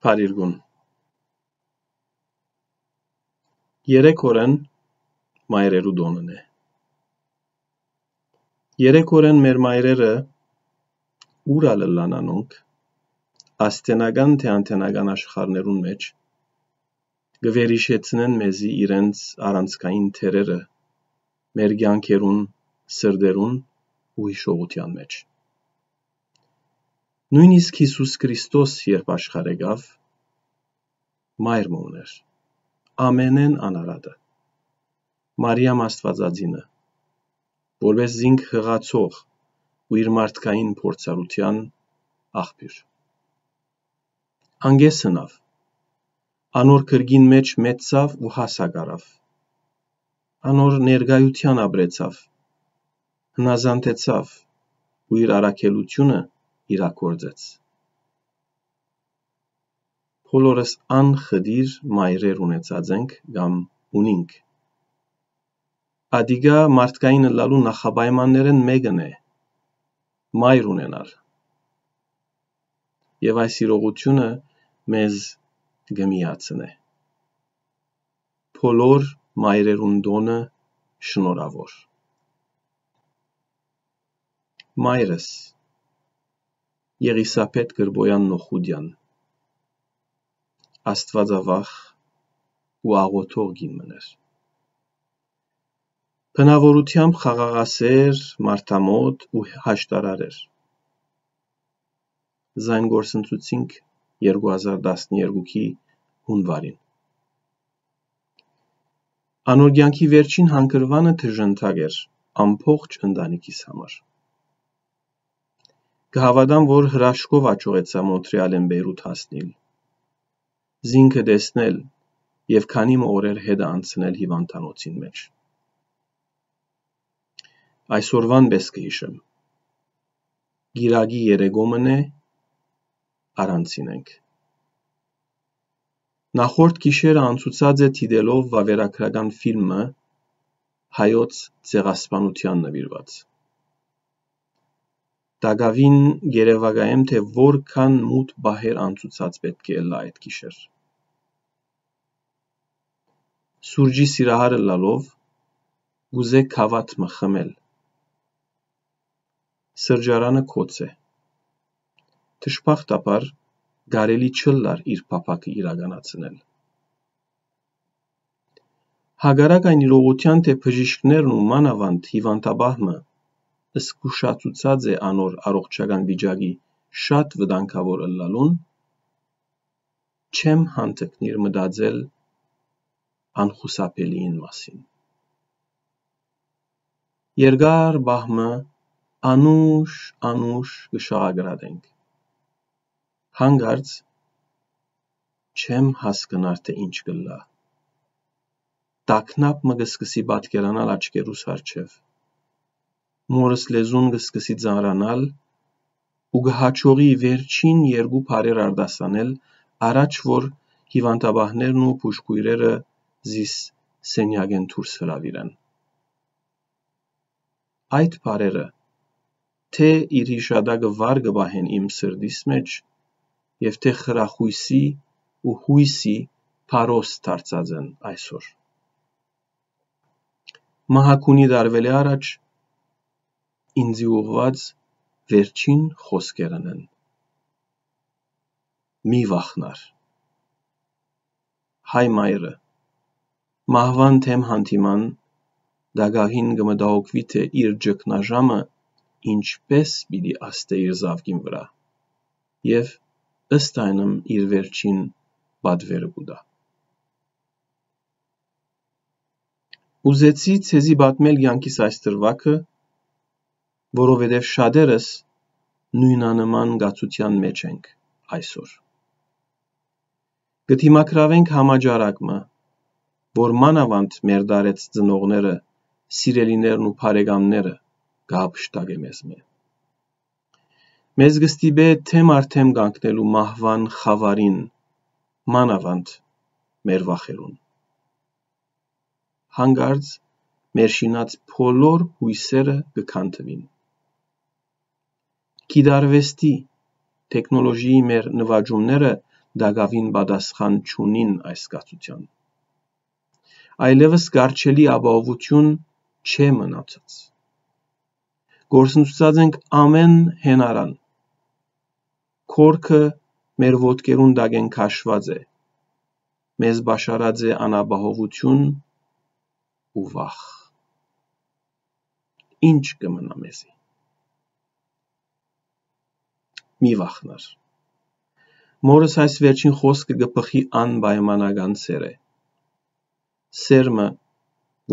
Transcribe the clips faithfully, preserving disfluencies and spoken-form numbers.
Փարիգուն։ Երեք օրէն մայրերու տօնն է։ Երեք օրէն մեր մայրերը, ուր ալ ըլլան անոնք, աստենական թէ անտենական աշխարհներուն մէջ, կը վերհիշեցնեն մեզի իրենց առանցքային դերերը մեր կեանքերուն, սրտերուն ու յիշողութեան մէջ։ Նոյնիսկ Յիսուս Քրիստոս, երբ աշխարհ եկաւ, մայր մը ունէր, ամենէն անարատը, Մարիամ Աստուածածինը, որպէս զինք յղացող ու իր մարդկային փորձառութեան աղբիւր։ Անկէ սնաւ, անոր կրկին մէջ մեծցաւ ու հասակ առաւ, անոր ներկայութեան ապրեցաւ, հնազանդեցաւ ու իր առաքելութիւնը իրագործեց։ Բոլորս անխտիր մայրեր ունեցած ենք կամ ունինք։ Ատիկա մարդկային ըլլալու նախապայմաններէն մէկն է, մայր ունենալ։ Եւ այս իրողութիւնը մեզ կը միացնէ։ Բոլոր մայրերուն տօնը շնորհաւոր։ Մայրս, Եղիսաբեթ Կրպոյան Նոխուդեան, աստուածավախ ու աղօթող կին մըն էր։ Բնաւորութեամբ խաղաղասէր, մարդամօտ ու հաշտարար էր։ Զայն գործընծուցինք երկու հազար տասներկուքի յունուարին։ Անոր կեանքի վերջին հանգրուանը դժնդակ էր ամբողջ ընտանիքիս համար։ Կը հաւատամ, որ հրաշքով աջողեցայ Մոնթրեալէն Պէյրութ հասնիլ, զինքը տեսնել եւ քանի մը օրեր հետը անցնել հիւանդանոցին մէջ։ Այսօրուան պէս կը յիշեմ։ Կիրակի երեկոյ մըն է, առանձին ենք։ Նախորդ գիշերը անցուցած է դիտելով վաւերագրական ֆիլմը հայոց ցեղասպանութեան նուիրուած։ Տակաւին կ'երեւակայեմ, թէ որքան մութ պահեր անցուցած պէտք է ըլլայ այդ գիշեր։ Սուրճի սիրահար ըլլալով, կ'ուզէ գաւաթ մը խմել։ Սրճարանը գոց է։ Դժբախտաբար, կարելի չ'ըլլար իր փափաքը իրականացնել։ Հակառակ այն իրողութեան, թէ բժիշկներն ու մանաւանդ հիւանդապահ մը զգուշացուցած է անոր առողջական վիճակի շատ վտանգաւոր ըլլալուն, չեմ յանդգնիր մտածել անխուսափելիին մասին։ Երկար պահ մը անուշ, անուշ կը շաղակրատենք։ Հանկարծ չեմ հասկնար, թէ ինչ կ'ըլլայ։ Տագնապ մը կը սկսի պատկերանալ աչքերուս առջեւ։ Մօրս լեզուն կը սկսի ծանրանալ ու կը յաջողի վերջին երկու բառեր արտասանել, առաջ որ հիւանդապահներն ու բուժքոյրերը զիս սենեակէն դուրս հրաւիրեն։ Այդ բառերը թէ իր յիշատակը վառ կը պահեն իմ սրտիս մէջ եւ թէ խրախոյսի ու յոյսի փարոս դարձած են այսօր։ Մահագունի տարուելէ առաջ ինծի ուղղուած վերջին խօսքերն են. «Մի վախնար»։ Հայ մայրը, մահուան դէմ յանդիման, տակաւին կը մտահոգուի, թէ իր ճգնաժամը ինչպէս պիտի ազդէ իր զաւկին վրայ, եւ ըստ այնմ իր վերջին պատուերը կու տայ։ Ուզեցի ձեզի պատմել կեանքիս այս դրուագը, որովհետեւ շատերս նոյնանման կացութեան մէջ ենք այսօր։ Կը դիմագրաւենք համաճարակ մը, որ մանաւանդ մեր դարեց ծնողները, սիրելիներն ու բարեկամները կը հափշտակէ մեզմէ։ Մեզ կը ստիպէ դէմ առ դէմ կանգնելու մահուան խաւարին, մանաւանդ մեր վախերուն։ Հանկարծ մեր շինած բոլոր յոյսերը կը քանդուին։ Գիտարուեստի, թեքնոլոժիի մեր նուաճումները տակաւին պատասխան չունին այս կացութեան։ Այլեւս կառչելի ապահովութիւն չէ մնացած։ Գործընծուցած ենք ամէն հենարան։ Կորքը մեր ոտքերուն տակէն քաշուած է։ Մեզ պաշարած է անապահովութիւն ու վախ։ Ի՞նչ կը մնայ մեզի։ Մի վախնար։ Մօրս այս վերջին խօսքը կը բխի անպայմանական սէրէ։ Սէր մը,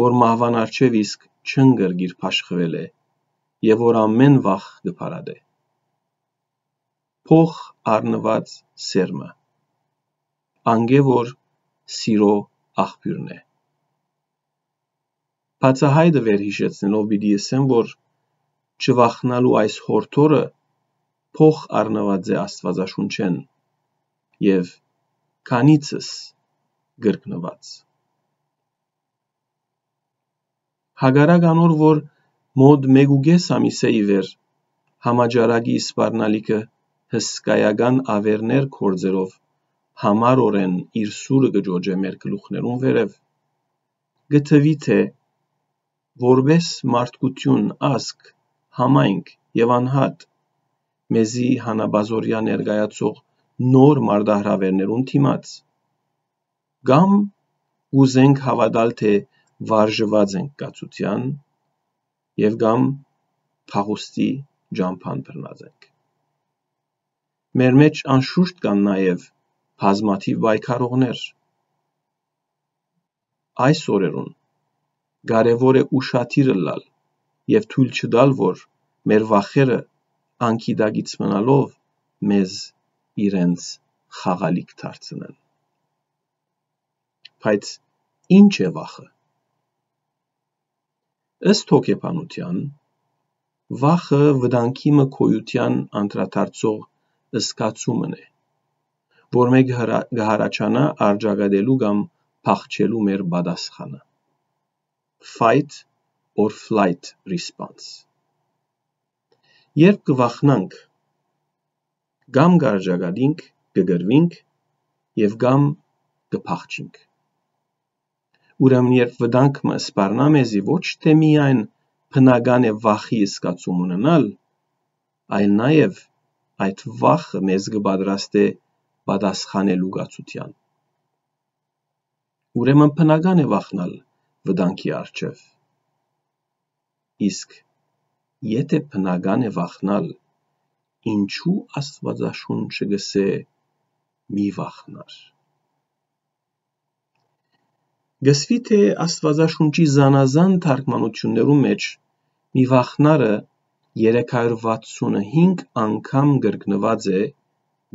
որ մահուան առջեւ իսկ չընկրկիր բաշխուելէ եւ որ ամէն վախ կը փարատէ։ Փոխ առնուած սէր մը, անկէ որ սիրո աղբիւրն է։ Բացահայտը վերհիշեցնելով պիտի ըսեմ, որ չվախնալու այս յորդորը փոխ առնուած է Աստուածաշունչէն եւ քանիցս կրկնուած։ Հակառակ անոր, որ մօտ մէկ ու կէս ամիսէ ի վեր համաճարակի սպառնալիքը հսկայական աւերներ գործերով համառօրէն իր սուրը կը ճոճէ մեր գլուխներուն վերեւ, կը թուի թէ որպէս մարդկութիւն, ազգ, համայնք եւ անհատ, մեզի հանապազօրեայ ներկայացող նոր մարտահրաւէրներուն դիմաց, կամ կ'ուզենք հաւատալ թէ վարժուած ենք կացութեան եւ կամ փախուստի ճամբան բռնած ենք։ Մեր մէջ անշուշտ կան նաեւ բազմաթիւ պայքարողներ։ Այս օրերուն կարեւոր է ուշադիր ըլլալ եւ թոյլ չտալ, որ մեր վախերը անգիտակից մնալով մեզ իրենց խաղալիք դարձնեն։ Բայց ի՞նչ է վախը։ Ըստ հոգեբանութեան, վախը վտանգի մը գոյութեան անդրադարձող զգացումն է, որ մէ կը հրա-, կը յառաջանայ առճակատելու կամ փախչելու մեր պատասխանը։ Fight or flight response։ Երբ կը վախնանք, կամ կ'առճակատինք, կը կռուինք եւ կամ կը փախչինք։ Ուրեմն երբ վտանգ մը սպառնայ մեզի, ոչ թէ միայն բնական է վախի զգացում ունենալ, այլ նաեւ այդ վախը մեզ կը պատրաստէ պատասխանելու կացութեան։ Ուրեմն բնական է վախնալ վտանգի առջեւ։ Իսկ եթէ բնական է վախնալ, ինչու Աստուածաշունչը կ'ըսէ «Մի վախնար»։ Կ'ըսուի թէ Աստուածաշունչի զանազան թարգմանութիւններու մէջ «Մի վախնարը» երեք հարյուր վաթսունհինգ անգամ կրկնուած է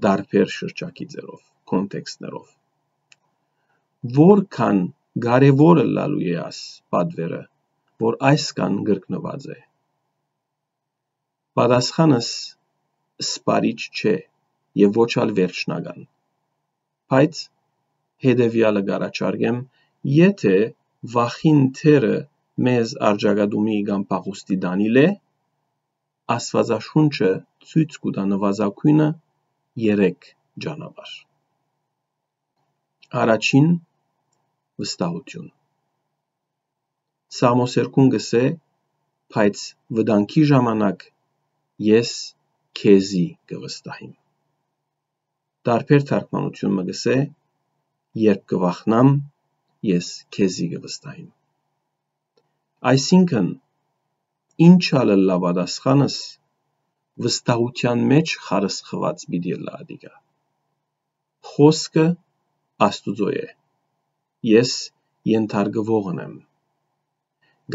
տարբեր շրջագիծերով, կոնտեքստներով։ Որքան կարեւոր ըլլալու է աս պատուերը, որ այսքան կրկնուած է։ Պատասխանս սպառիչ չէ եւ ոչ ալ վերջնական, բայց հետեւեալը կ'առաջարկեմ. եթէ վախին դերը մեզ առճակատումի կամ փախուստի տանիլ է, Աստուածաշունչը ցոյց կու տայ նուազագոյնը երեք ճանապարհ։ Առաջին, վստահութիւն։ Սաղմոսերգուն կ'ըսէ. «Բայց վտանգի ժամանակ ես քեզի կը վստահիմ»։ Տարբեր թարգմանութիւն մը կ'ըսէ. «Երբ կը վախնամ, ես քեզի կը վստահիմ»։ Այսինքն, ինչ ալ ըլլայ պատասխանս, վստահութեան մէջ խարսխուած պիտի ըլլայ ատիկա։ Խօսքը Աստուծոյ է, ես ենթարկուողն եմ։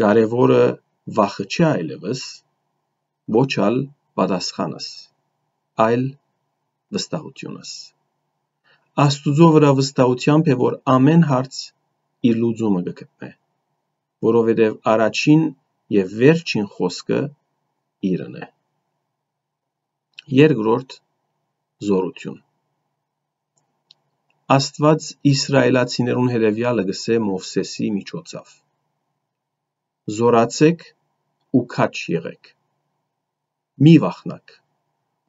Կարեւորը վախը չէ այլեւս, ոչ ալ պատասխանս, այլ վստահութիւնս։ Աստուծոյ վրայ վստահութեամբ է, որ ամէն հարց իր լուծումը կը գտնէ, որովհետեւ առաջին եւ վերջին խօսքը իրեն է։ Երկրորդ, զօրութիւն։ Աստուած իսրայելացիներուն հետեւեալը կ'ըսէ Մովսէսի միջոցաւ. «Զօրացէք ու քաջ եղէք։ Մի վախնաք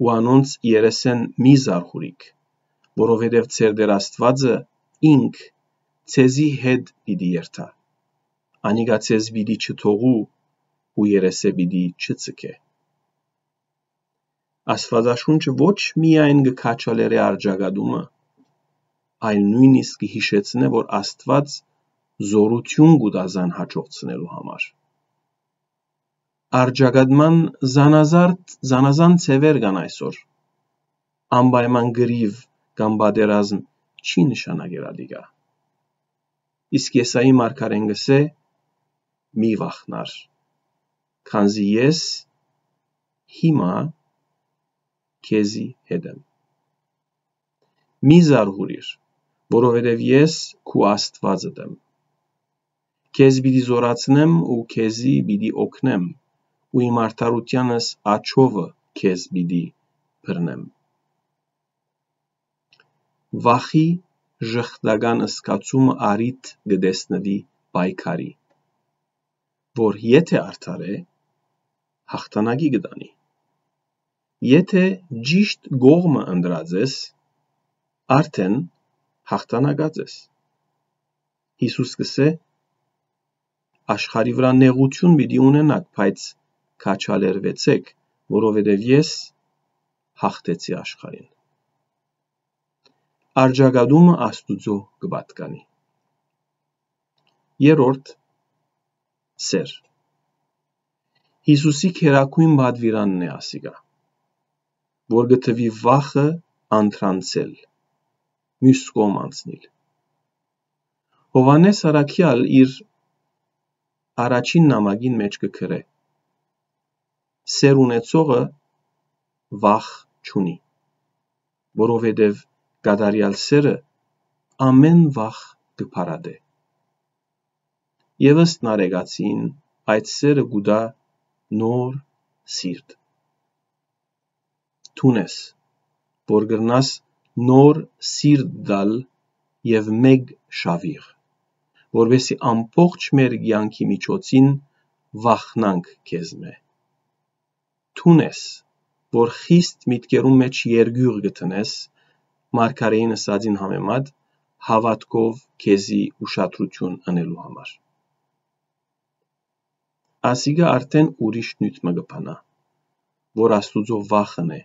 ու անոնց երեսէն մի զարհուրիք, որովհետեւ ձեր Տէր Աստուածը ինք ձեզի հետ պիտի երթայ։ Անիկա ձեզ պիտի չթողու ու երեսէ պիտի չձգէ։ Աստուածաշունչը ոչ միայն կը քաջալերէ արձակատումը, այլ նոյնիսկ կը յիշեցնէ, որ Աստուած զօրութիւն կու տայ զայն յաջողցնելու համար։ Արձակատման զանազարդ, զանազան ձեւեր կան այսօր։ Անպայման կռիւ կամ պատերազմ չի նշանակեր ատիկա։ Իսկ Եսայի մարգարեն կ'ըսէ. «Մի վախնար, քանզի ես հիմա քեզի հետ եմ։ Մի զարհուրիր, որովհետեւ ես քու Աստուածդ եմ։ Քեզ պիտի զօրացնեմ ու քեզի պիտի օգնեմ ու իմ արդարութեանս աջովը քեզ պիտի բռնեմ»։ Վախի ժխտական զգացումը առիթ կը տեսնուի պայքարի, որ եթէ արդար է, յաղթանակի կը տանի։ Եթէ ճիշտ կողմը ընտրած ես, արդեն յաղթանակած ես։ Յիսուս կ'ըսէ. «Աշխարհի վրայ նեղութիւն պիտի ունենաք, բայց քաջալերուեցէք, որովհետեւ ես յաղթեցի աշխարհին»։ Արձակատումը Աստուծոյ կը պատկանի։ Երրորդ, սէր։ Յիսուսի գերագոյն պատուիրանն է ասիկա, որ կը թուի վախը անդրանցել, միւս կողմ անցնիլ։ Յովհաննէս առաքեալ իր առաջին նամակին մէջ կը գրէ. «Սէր ունեցողը վախ չունի, որովհետեւ կատարեալ սէրը ամէն վախ կը փարատէ»։ Եւ ըստ Նարեկացին, այդ սէրը կու տայ նոր սիրտ։ Դուն ես, որ կրնաս նոր սիրտ տալ եւ մէկ շավիղ, որպեսզի ամբողջ մեր կեանքի միջոցին վախնանք քեզմէ։ Դուն ես, որ խիստ միտքերուն մէջ երկիւղ կը դնես, մարգարէին ըսածին համեմատ, հաւատքով քեզի ուշադրութիւն ընելու համար։ Ասիկա արդեն ուրիշ նիւթ մը կը բանայ, որ Աստուծոյ վախն է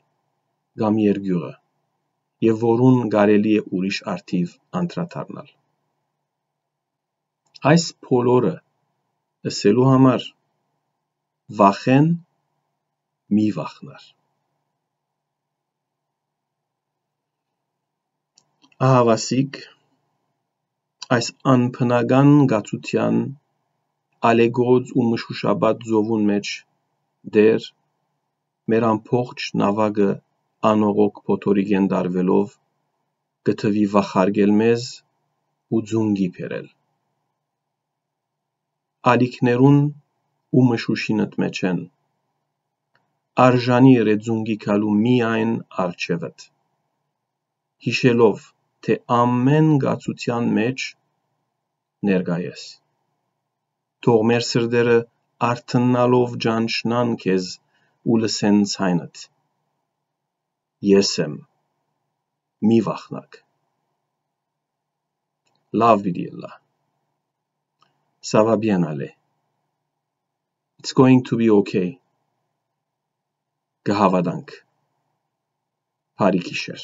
կամ երկիւղը, եւ որուն կարելի է ուրիշ առթիւ անդրադառնալ։ Այս բոլորը ըսելու համար վախէն մի վախնար։ Ահաւասիկ, այս անբնական կացութեան ալեկոծ ու մշուշապատ ծովուն մէջ Տէր մեր ամբողջ նաւակը անողոք փոթորիկէն տարուելով կը թուի վախարկել մեզ ու ծունկի բերել։ Ալիքներուն ու մշուշին ըտ մէջէն արժանի ըրե ծունկի գալու միայն առջեւդ, յիշելով, թէ ամէն կացութեան մէջ ներկայ ես։ Թող մեր սրտերը արթննալով ճանչնան քեզ ու լսեն ձայնդ. «Ես եմ, մի վախնաք»։ Լաւ պիտի ըլլայ։ Ça va bien aller. It's going to be okay. Կը հաւատանք։ Բարի գիշեր։